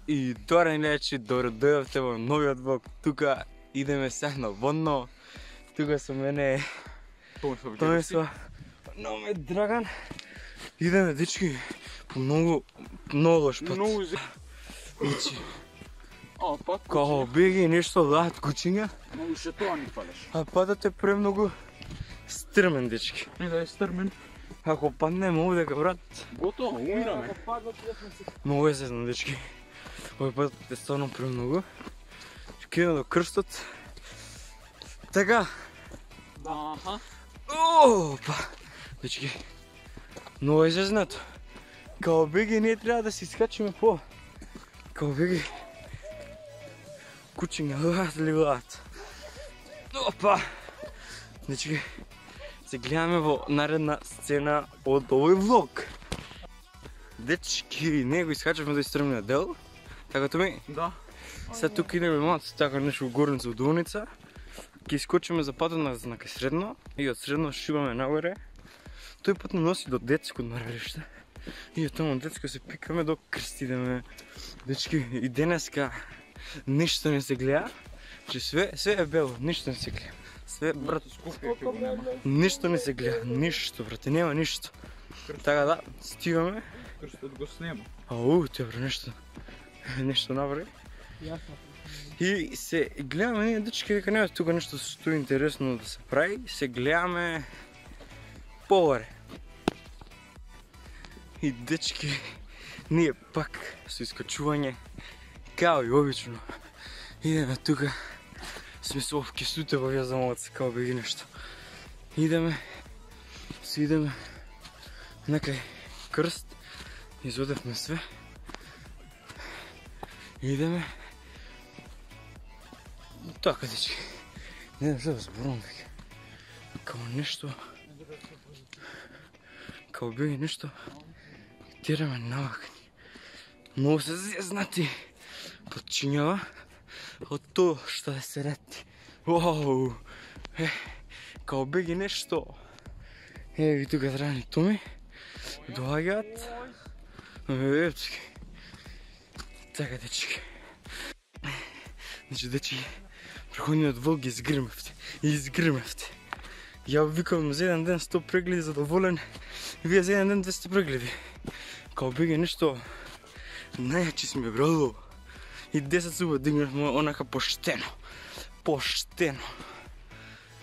И добре гледачи, добро дојавте во новиот влог. Тука идеме сега на водно. Тука со мене Томислав, но ме Драган. Идеме дечки по многу лош пат. Значи, као беги нешто лад кучиња. Многу ше тоа ни палеш. А патот е премногу стрмен, дечки. Не да е стрмен. Ако паднеме овдека, брат, Готово, умираме. многу е сезно, дечки. Овој патот е стварно премногу. Ќе идеме до крстот. Така. Аха. Опа! Дечки, многу е зезнато. Као беги ние треба да се искачиме по. Као беги кучиња лилат. Опа! Дечки, се гледаме во наредна сцена од овој влог. Дечки, ние го искачавме до истрмниот дел. Така Томи? Да. Сега тука идеме малку така нешто во горница, во долница. Ќе искочиме за патот на кај средно и од средно шибаме нагоре. Тој пат не носи до детско одмаралиште. И од таму детско се пикаме до крст идеме. Дечки, и денеска ништо не се гледа. Че све е бело, ништо не се гледа. Све, брат, ништо не се гледа, ништо, брате, нема ништо. Така да, стигаме. Крстот го снема. Те бре, нешто направи. И се гледаме ние дечки дека нема тука нешто што интересно да се прави, се гледаме погаре. И дечки, ние пак со искачување, као и обично, идеме тука, сме со овкесуте во вјазамоци, као беги нешто. Идеме некај крст, изодевме све, идеме. Така, дечки, не знам што да зборувам веќе. Као нешто, као беги нешто, тераме навакни. Многу се зезнати подчињава од тоа што да се рети. Вау! Као беги нешто. Еви тука Драган и Томи доаѓаат. Дечки. Така, дечки. Значи, дечки, преходниот влог ги изгрмевте. Ја викам за еден ден 100 прегледи задоволен, и вие за еден ден 200 прегледи. Као беги нешто, најачи сме, брадо. И 10 зуба дигнахме онака поштено. Поштено.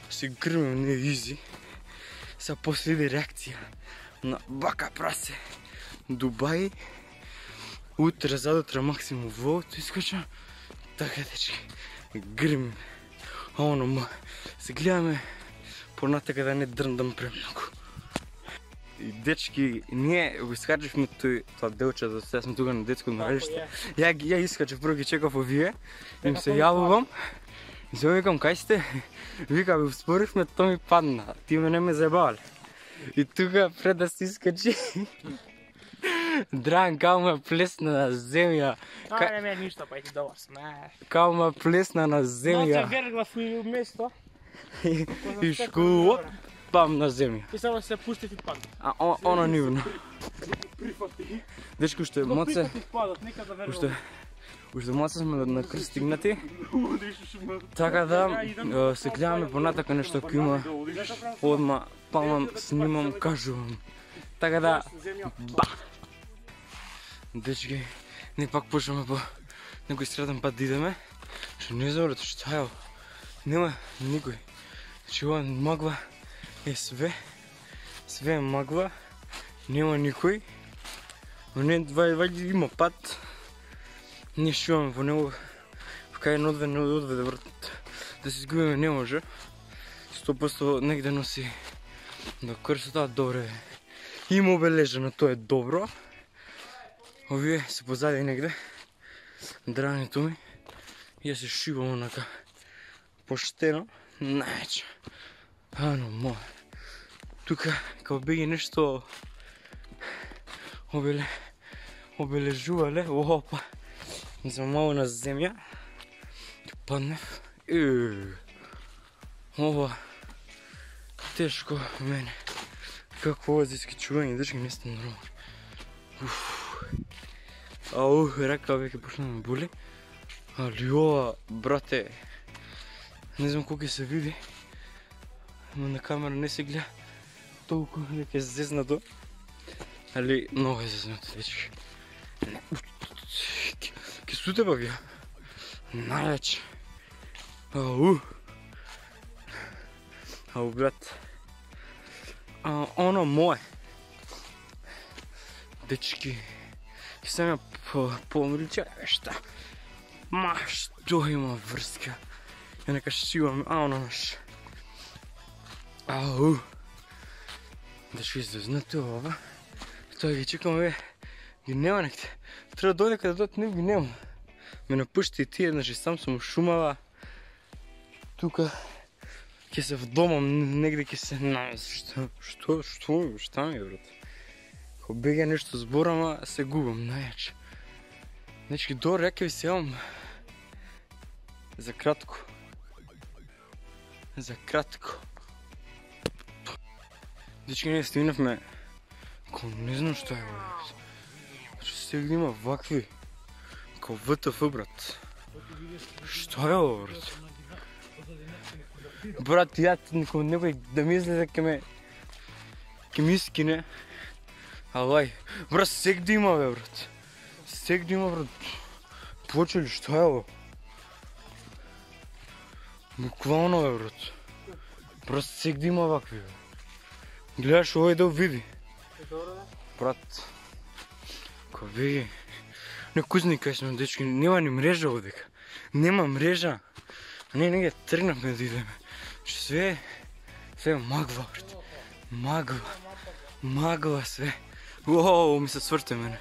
Се грмем не изи. Сега после иде реакција на бака прасе. Дубај. Утре, задутре максимум влогот искача. Така, дечки, грмим. А оно се гледаме понатака да не дрндам премногу. И дечки, ние го искачавме тоа делче, да сега сме тука на детско одмаралиште. Ја искачав, прво ги чекав овие, им се јавувам. И се викам, кај сте? Вика, ви споривме, то ми падна. Ти мене ме заебале. И тука пред да се искачи, Драган као ме плесна на земја. Не ме ништо, па ти добар сме. Као ме плесна на земја. Ноце верглав и место. И шкулот, пам на земја. И само се пусти и падна. А она нивно. Дечко, уште моце. Уште моце сме на крст стигнати. Така да, се гледаме понатака нешто ако има. Одма памам, снимам, кажувам. Така да, ба! Дечки, ние пак почваме по некој среден пат да идеме. Што не знам брат, што е ово. Нема никој. Значи ова магла е све е магла, нема никој. Но не, вајде има пат. Ние шиваме по него, кај не одведе брат. Да се изгубиме не може. 100% негде носи до крстот, добре. Има обележено, тоа е добро. Овие се позади негде. Драган и Томи. Ја се шибам онака поштено. Најче. Ано, тука, као беги нешто обележувале. Опа. За мало на земја. Паднев. Ова тешко мене. Какво ова за искачување, дечки, не сте нормални. Ау, рака веќе почна да ме боли. Али ова, брате, не знам колку се види. Но на камера не се гледа толку дека е зезнато. Али много е зезнато, дечки. Ке суте бак ја. Најач. Ау. Ау, брат. Оно мое. Дечки. Ке сам ја помрича, шта. Ма, што има врска? Ја нека шивам, оно наш. Ау. Дечки, зезнато ова. Тоа ги чекаме, ги нема некте. Треба да дојде каде дојде, не ги нема. Ме напушти и тие, значи сам сум шумава. Тука ќе се вдомам, негде ќе се наместам. Што ми е, брат? Ко бега нешто зборам, се губам, најач. Значи, добро, ја ќе ви се јавам за кратко. За кратко. Дечки, ние стигнавме, ко не знам што е, брат. Значи, сега има вакви, ко ВТФ, брат. Што е ово, брат? Брат, ја некој да мисли дека ке ми искине. Алај, брат, сегде има, бе, брат. Сегде има, брат. Почели, што е ово? Буквално, бе, брат. Брат, сегде има вакви, бе. Гледаш овој да види. Брат, ко беги. Не кузни кај сме, дечки, нема ни мрежа овдека. Нема мрежа. Не ги тргнавме да идеме. Све е магва, брат. Магва све. Уоу, ми се сврте мене.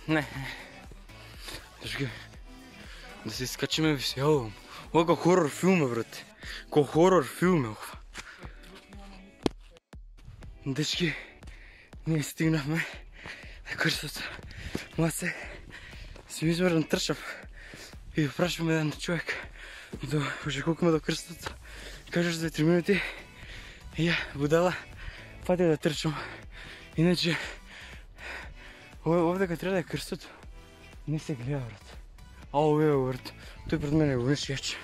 Не. Дечки, да се искачиме ви се јавам. Ова ко хорор филм е, брат. Ко хорор филм е ова. Дечки, ние стигнахме на крстот. Маце, си измерен трчав и прашваме еден човек уже колку ме до крстот. Кажеш за 3 минути и ја, будала, пати да трчам. Иначе, овде кога треба да е крстот, не се гледа, брат. Ау, ево, брат, тој пред мене го нешто јаче.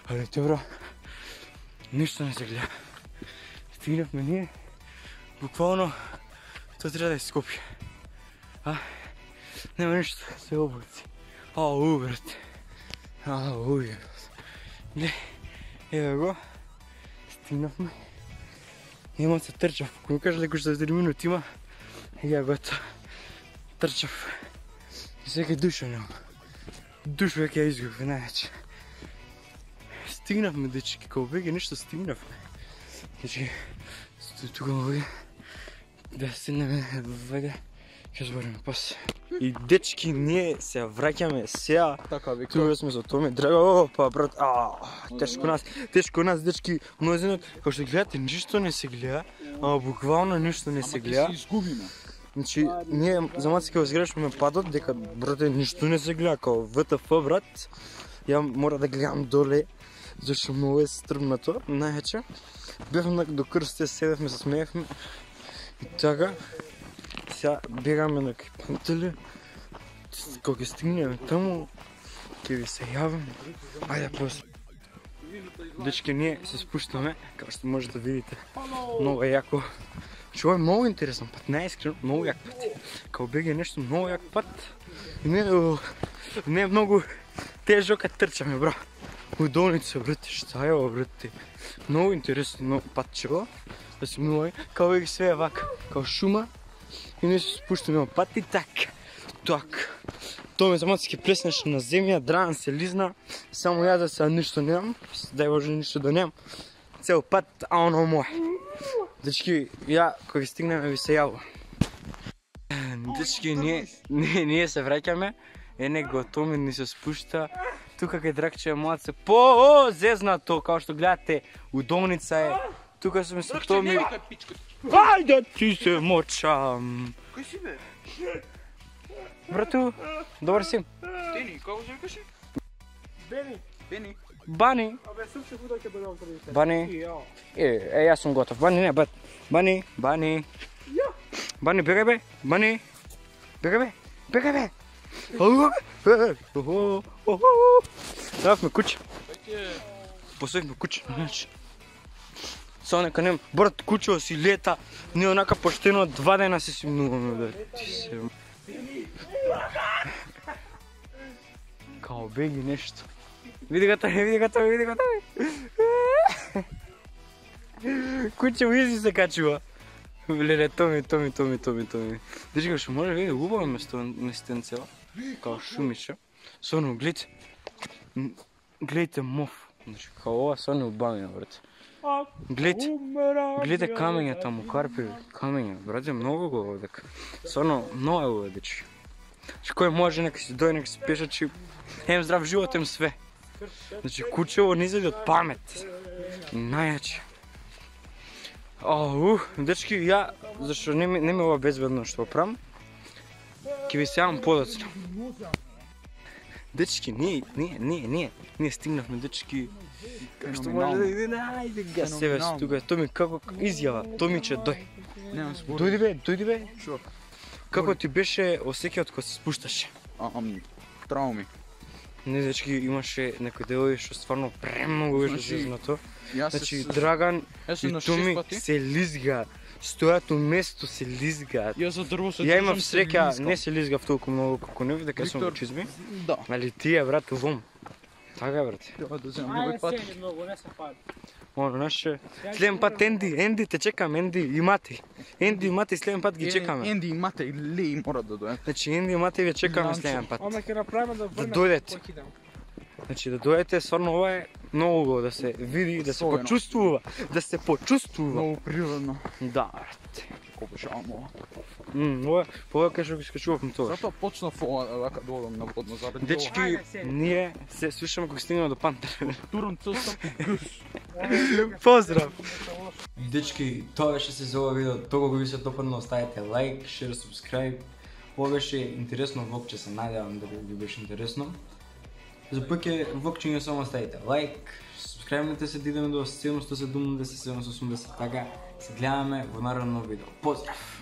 Али добро, ништо не се гледа. Стигнавме ние. Буквално, тоа треба да е Скопје. Нема ништо, се облаци. Ау, брат. Ау, брат. Не, еве го. Стигнавме. Нема се трчав. Ако ми кажа дека за 3 минути има, ја готов. Трчав. И сега душа нема. Душа веќе ја изгубив, најаче. Стигнавме, дечки, као беге нешто стигнавме. Дечки, тука му да седнеме веќе, ќе збориме после. И дечки, ние се враќаме сега. Така вика. Тука сме со Томи Драго, опа брат, тешко нас, дечки, мнозинот, како што гледате, ништо не се гледа, ама буквално ништо не се гледа. Ама ќе се изгубиме. Значи, ние за маца ќе возгрешуваме падот, дека брате ништо не се гледа, као ВТФ, брат. Ја мора да гледам доле, зашто многу е стрмнато, најаче. Бевме до крстите, седевме, се смеевме. И така, сега бегаме на кај Пантеле. Кога ќе стигнеме таму, ќе ви се јавам. Ајде, после. Дечки, ние се спуштаме, како што можете да видите. Много е јако. Ова е многу интересен пат, најискрено, многу јак пат. Као беге нешто многу јак пат. И не е многу тежок кога трчаме, бро. Удолница, брате, шта е ова, брате. Многу интересно патчево. Да се милој, као беге све е вака, као шума. И ние се спуштаме пат и така. Томе замаца ќе плеснеш на земја, Драган се лизна. Само ја да сега ништо немам. Дај Боже ништо да немам. Цел пат, а оно мој. Дечки, ја, кога стигнеме, ви се јавам. Дечки, ние се враќаме. Ене го Томи ни се спушта. Тука кај Дракче е малце зезнато, као што гледате, удолница е. Тука сме со Томи. Ајде ти се мочам. Кој си бе? Брату, добар си. Тени, како се викаше? Бени. Бани. Абе, сум се худо ќе бъдам првите. Бани. Јас сум готов. Бани, не, Бани. Бани, бегај бе. Бани. Бегај бе. Ставме куче. Посојме куче, значи. Само нека нема, брат, кучево си лета, не онака поштено 2 дена се симнуваме, бе. Ти се... Као беги нешто. Види го тој. Кучево изи се качува. Леле, томи. Дечка, што може види убаво местенцева, као шумича. Соно, гледайте мов. Значи, као ова соно убавина, брат. Гледайте камења таму, карпи, камења, брате, многу го овдека. Соно, много е ова, дечки. Значи, кој може, нека си дојде, нека си пешачи, ем здрав живот, ем све. Значи, кучево не излезе од памет. Најаче. Дечки, ја, зашто не ми ова безбедно што правам, ќе ви се јавам подоцна. Дечки, ние стигнавме, дечки, што може да иде, ајде га себе си тука, Томи, како изјава, Томиче, дој. Дојди бе. Шо? Како ти беше осеќајот кога се спушташе? Трауми. Не, дечки, имаше некои делови што стварно премногу беше зезнато. Значи, Драган и Томи се лизга, стојат у место, се лизгаат. Ја имав среќа, не се лизгав толку многу како нив, дека сум во чизми. Да. Али тие, брат, вом. Така, брат. Треба да земам другој пат. Наше, следен пат Енди те чекаме, Енди и Мати. Следен пат ги чекаме. Енди и Мате и Леи мора да дојдат. Значи, Енди и Мати ве чекаме следен пат. Ама ќе направиме да врнеме. дојдете. Значи, да дојдете, стварно ова е многу убаво да се види, да се почувствува. Многу природно. Да, брат. Обожавам. Ова, повеќе што ги скачувавме тоа. Затоа почнав ова вака да одам на водно заради. Дечки, ние се слушаме кога стигнеме до Пантер. турам цел стапи гус. Поздрав! Дечки, тоа беше се за ова видео. Тоа го ви се допадна, оставете лайк, шер, субскрайб. Ова беше интересно влогче, се надевам да ви беше интересно. За пъке влогче не само оставите лайк, субскрайбнете се, да идеме до 770, 780, така се гледаме во наредно видео. Поздрав!